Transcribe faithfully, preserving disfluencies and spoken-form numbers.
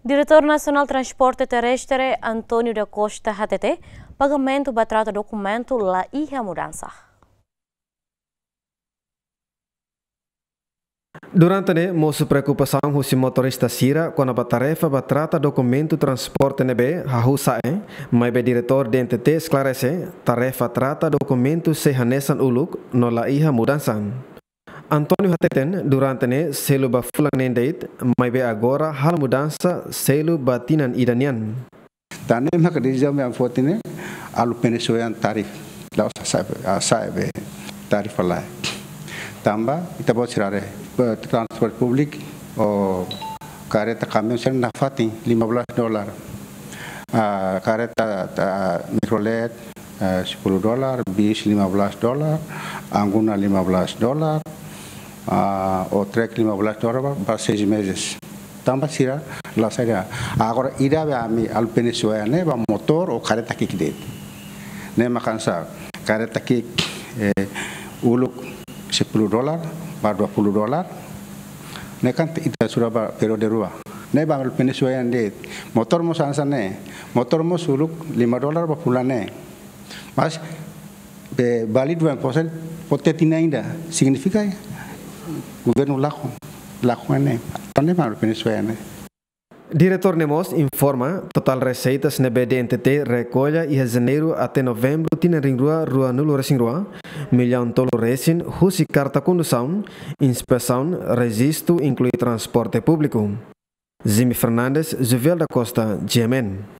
Diretór Nasionál Transporte Terrestre, António da Costa, hatete pagamentu ba trata dokumentu la iha mudansa. Durante ne'e, mosu preokupasaun husi motorista sira kona-ba tarefa ba trata dokumentu transporte ne'ebé hahú sa'e, maibé diretór D N T T esklarese, tarefa trata dokumentu sei hanesan uluk no la iha mudansa. António hateten, durante ne'e selu ba fulan neen de'it, maibé agora halo mudansa selu ba tinan ida nian. Tan ne'e maka desizaun ami foti ne'e, alu penesoyan tarif. La'ós sa'e, sa'e be tarif lai. Tanba, ita-boot sira haree, be transporte públiku, ou kareta kamiaun sira nafatin lima belas dolar. Ah, kareta, ah, mikrolet, ah, sepuluh dolar, bis lima belas dolar, angguna lima belas dolar, ah, ou trek lima belas dolar ba, ba seis meses. Tanba sira la saida. Agora ida be ami alu penesoyan ne'e ba motór ou kareta ki'ik de'it. Ne'e maka hanesan kareta ki'ik, eh, uluk sepuluh dolar ba dua puluh dolar. Ne'e kan ita sura ba periode rua. Ne'e ba alu penesoyan de'it. Motór mós hanesan ne'e. Motór mós uluk lima dolar ba fulan ne'e. Mas be válidu ba impostu foti tinan ida, signifika governu lakon, lakon ne'e. Tan ne'e ba alu penesoyan ne'e. Diretór ne'e mós informa, totál reseitas ne'ebé D N T T rekolla iha Janeiru até Novembru tinan rihun rua ruanulu resin rua, millaun tolu resin husi karta kondusaun, inspesaun, rejistu, inklui transporte públiku. Jimmy Fernandes, Juvel da Costa, G M N.